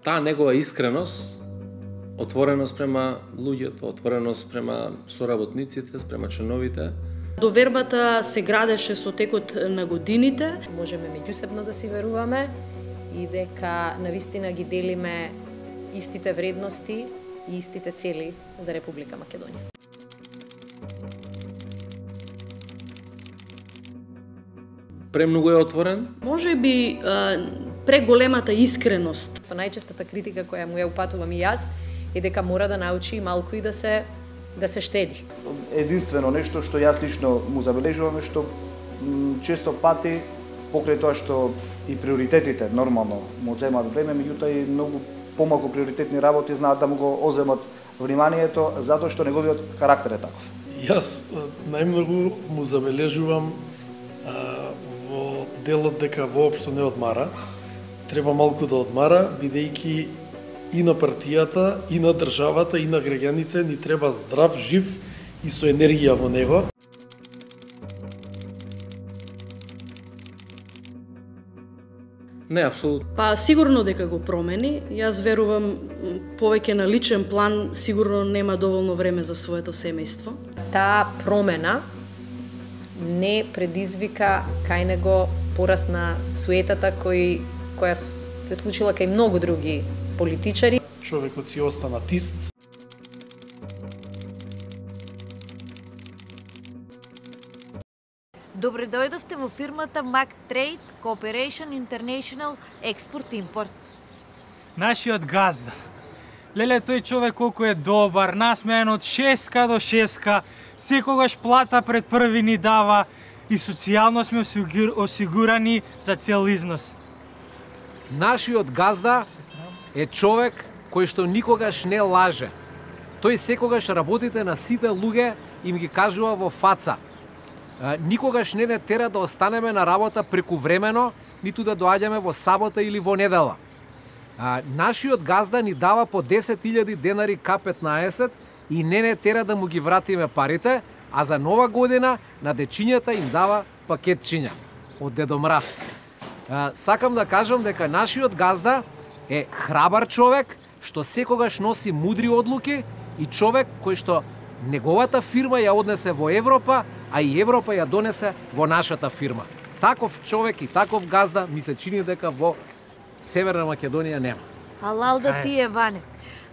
таа негова искреност, отвореност према луѓето, отвореност према соработниците, спрема членовите. Довербата се градеше со текот на годините. Можеме меѓусебно да си веруваме и дека навистина ги делиме истите вредности и истите цели за Република Македонија. Премногу е отворен. Може би преголемата искреност. Најчестата критика која му ја упатувам и јас е дека мора да научи малку и да се штеди. Единствено нешто што јас лично му забележувам е што често пати покрај тоа што и приоритетите нормално му земаат време, меѓутоа и многу помалку приоритетни работи знаат да му го оземат вниманието затоа што неговиот карактер е таков. Јас најмногу му забележувам во делот дека воопшто не одмара. Треба малку да одмара, бидејќи и на партијата, и на државата, и на граѓаните ни треба здрав, жив и со енергија во него. Не, апсолутно. Па сигурно дека го промени. Јас верувам повеќе на личен план, сигурно нема доволно време за своето семејство. Таа промена не предизвика кај него пораст на суетата која се случила кај многу други политичари. Човекот си остана тист. Добре дојдовте во фирмата Mac Trade Cooperation International Export Import. Нашиот газда. Леле, тој човек колку е добар, насмеен од шеска до шеска, секогаш плата пред први ни дава и социјално сме осигурани за цел износ. Нашиот газда е човек кој што никогаш не лаже. Тој секогаш работите на сите луѓе им ги кажува во фаца. Никогаш не тера да останеме на работа прекувремено, ниту да доаѓаме во сабота или во недела. Нашиот газда ни дава по 10.000 денари К15 и не тера да му ги вратиме парите, а за нова година на дечињата им дава пакетчиња од Дедо Мраз. Сакам да кажам дека нашиот газда е храбар човек, што секогаш носи мудри одлуки и човек кој што неговата фирма ја однесе во Европа, а и Европа ја донесе во нашата фирма. Таков човек и таков газда ми се чини дека во Северна Македонија нема. Алал да ти е, Ване.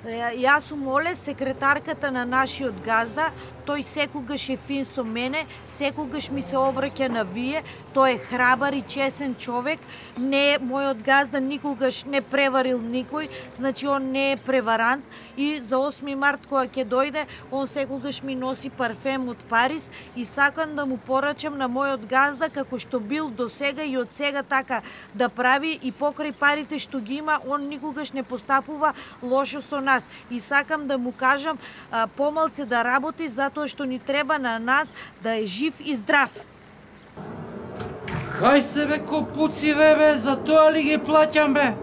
Јас сум Оле, секретарката на нашиот газда. Тој секогаш е фин со мене, секогаш ми се обраќа на вие. Тој е храбар и чесен човек. Не, мојот газда никогаш не преварил никој, значи он не е преварант. И за 8 март кога ќе дојде, он секогаш ми носи парфем од Париз и сакам да му порачам на мојот газда како што бил до сега и од сега така да прави и покрај парите што ги има, он никогаш не постапува лошо со нас. И сакам да му кажам помалце да работи затоа што ни треба на нас да е жив и здрав. Хај се бе копуци бе, за тоа ли ги плаќам бе?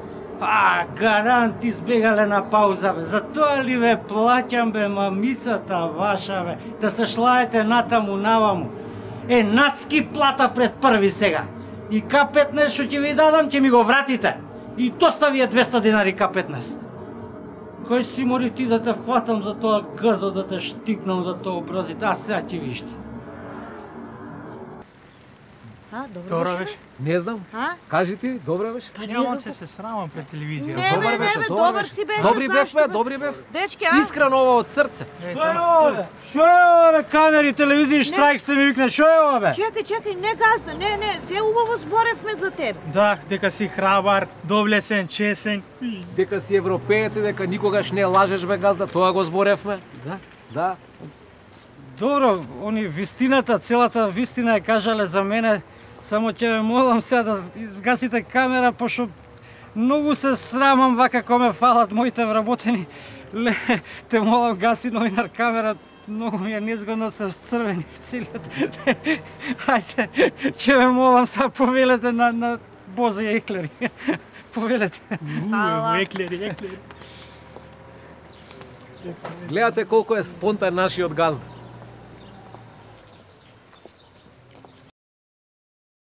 Гарант избегале на пауза бе, за тоа ли бе плаќам бе, мамицата ваша бе, да се шлаете натаму наваму. Нацки плата пред први сега. И К15 што ќе ви дадам, ќе ми го вратите. И доста ви е 200 денари К15. Кој си мори ти да те фатам за тоа гъзо, да те штипнам за тоа образите, а сега ќе виште. Добро беше? Не знам. Кажи ти, добро беше? Нямам се срамам пред телевизија. Не, добар си беше. Добри бев, бе, добри бев. Дечки, Искрено ова од срце. Што е ова бе? Што е ова бе? Камери, телевизија, штрайк сте ми викне. Што е ова бе? Чекај, не газда, не, се убаво зборевме за тебе. Да, дека си храбар, доблесен, чесен. Дека си европеец и дека никогаш не лажеш бе газда, тоа го зборевме. Да. Добро, они вистината, целата вистина ја кажале за мене. Само ќе ве молам сега да изгасите камера, пошто многу се срамам вака кога ме фалат моите вработени. Те молам, гаси новинар камера, многу ми е незгодно, се црвени в целиот. Ајде, ќе ве молам, сега повелете на Бозе Еклери. Повелете. Еклери. Гледате колку е спонтан нашиот газда.